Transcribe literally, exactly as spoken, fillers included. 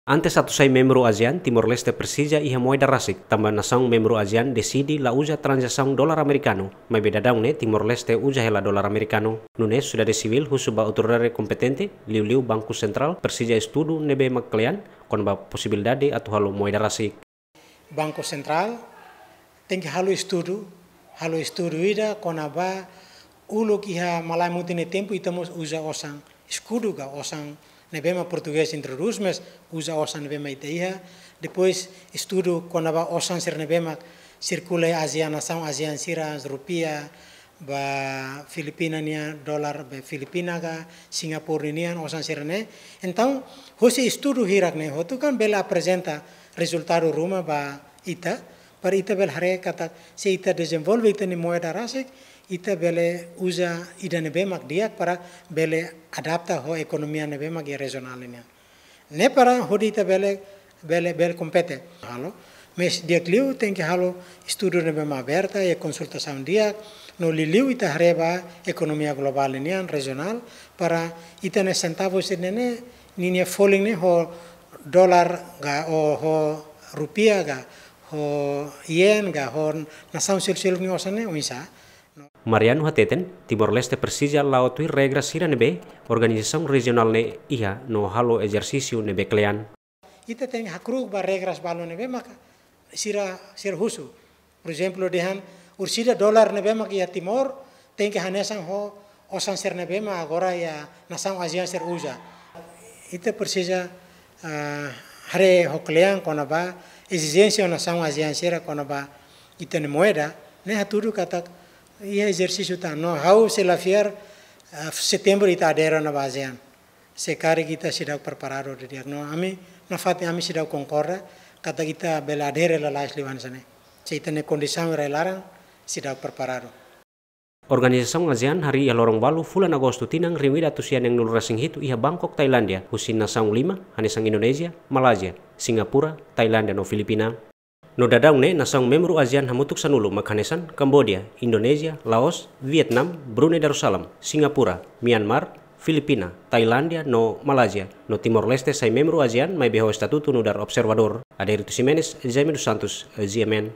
Antes atu sai membru ASEAN, Timor-Leste presiza iha moeda rasik, tanba nasaun membru ASEAN deside la uza tranzasaun dolar amerikanu, maibé daudaun ne'e Timor-Leste uza hela dolar amerikanu. Nune'e, sosiedade sivíl husu ba autoridade kompetente, liuliu Banku Sentrál, presiza estudu ne'ebé mak kle'an, kona-ba posibilidade atu halo moeda rasik. Banku Sentrál tenke halo estudu, halo estudu ida kona-ba uluk iha malae mutin nia tempu ita mós uza osan eskudu ka osan ne'ebé mak portugés introdús, mas uza osan ne'ebé mak ita iha. Depois estudu kona-ba osan sira ne'ebé mak sirkula iha ASEAN, nasaun ASEAN sira, rupiah, ba Filipina nian, dolar ba Filipina ka, Singapura nian, osan sira-ne'e. Entaun, hosi estudu hirak-ne'e hotu kan bele aprezenta rezultadu ruma ba ita, para ita bele haree katak se ita dezenvolve ita-nia moeda rasik, ita bele uza ida ne'ebé mak di'ak para bele adapta ho ekonomia ne'ebé mak iha rejionál nian. Ne'e para hodi ita bele, bele, bele kompete. Halo, mas di'ak liu tenke halo estudu ne'ebé mak aberta, iha konsultasaun di'ak, no liuliu ita haree ba ekonomia globál nian, rejionál, para ita-nia sentavu sira-ne'e, ninia folin ne'e ho dolar ka, ou ho rupiah ka, ho yen ka, ho nasaun seluk-seluk nia osan ne'e oinsá. Mariano hateten, Timor-Leste presiza la'o tuir regra sira ne'ebé organizasaun rejionál ne'e iha no halo ezersísiu ne'ebé kle'an. Ita tenke hakru'uk ba regras balu ne'ebé maka sira, sira husu. Por ezemplu, dehan orsida dolar ne'ebé mak iha Timor tenke hanesan ho osan sira ne'ebé mak agora iha nasaun ASEAN sira uza. Ita presiza, ah, haree ho kle'an kona-ba ezijénsia nasaun ASEAN sira kona-ba ita-nia moeda, ne'e hatudu katak iha ezersísiu tan. No ha'u sei la fiar, ah, Setembru ita adere ona ba ASEAN. Se karik ita seidauk preparadu didi'ak. No ami, nafatin ami seidauk konkorda katak ita bele adere lalais liu hanesan ne'e. Se ita-nia kondisaun rai-laran seidauk preparadu. Organizasaun ASEAN harii iha loron balu fulan Agostu tinan rihun ida atus sia neen-nulu resin hitu iha Bangkok, Tailándia, husi nasaun lima, hanesan Indonézia, Malázia, Singapura, Tailándia no Filipina. No daudaun ne'e nasaun membru ASEAN hamutuk sanulu mak hanesan Kamboja, Indonézia, Laos, Vietnam, Brunei Darussalam, Singapura, Myanmar, Filipina, Tailándia no Malázia. No Timor-Leste sai membru ASEAN maibé ho estatutu nu'udar observadór. Adérito Ximenes, Jaime dos Santos, G M N.